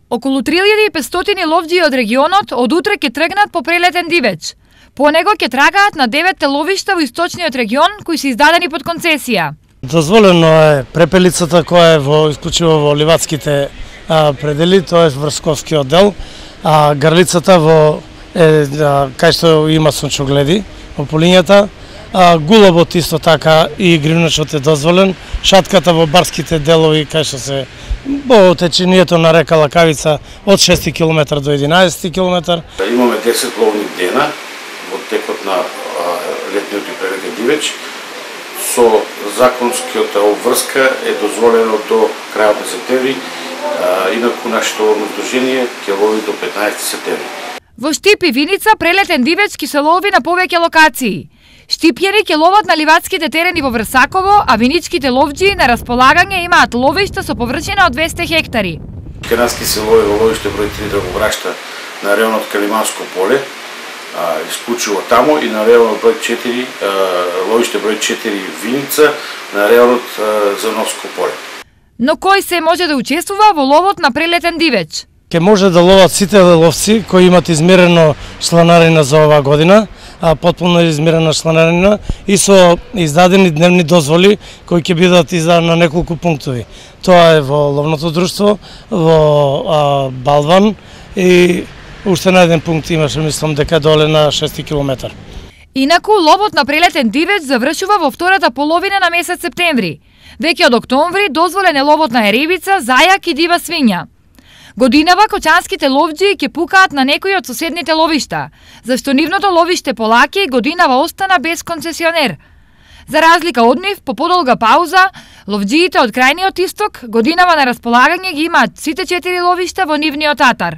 Околу 3500 ловџии од регионот од утре ќе тргнат по прелетен дивеч. По него ќе трагаат на 9 ловишта во источниот регион кои се издадени под концесија. Дозволено е препелицата која е исклучиво во ливадските предели, тоа е врсковскиот дел, а грлицата кај што има сончогледи во полињата, гулобот исто така и гривначот е дозволен, шатката во барските делови кај што се во течението на река Лакавица од 6 км до 11 км. Имаме 10 ловни дена во текот на летниот и прелетен дивеч. Со законскиот обврска е дозволено до крајот на септември, инаку нашето ловно здружение ќе лови до 15 септември. Во Штип и Виница прелетен дивеч ќе се лови на повеќе локации. Штипјани ќе ловат на ливадските терени во Врсаково, а виничките ловџии на располагање имаат ловишта со површина од 200 хектари. Керански се лови во ловиште број 3 Драгобрашта на районот Калиманско поле, исклучиво таму, и на районот број 4, ловиште број 4 Виница на районот Зановско поле. Но кој се може да учествува во ловот на прелетен дивеч? Ке може да ловат сите ловци кои имат измерено чланарина за оваа година, потполно измерена чланарина и со издадени дневни дозволи кои ќе бидат издадени на неколку пунктови. Тоа е во ловното друштво, во Балван и уште на еден пункт имаше, мислам дека доле на 6 км. Инаку ловот на прелетен дивеч завршува во втората половина на месец септември. Веќе од октомври дозволен е ловот на ерибица, зајак и дива свиња. Годинава кочанските ловџии ќе пукаат на некои од соседните ловишта, зашто нивното ловиште Полаки годинава остана без концесионер. За разлика од нив, по подолга пауза, ловџиите од крајниот исток годинава на располагање ги имаат сите 4 ловишта во нивниот атар.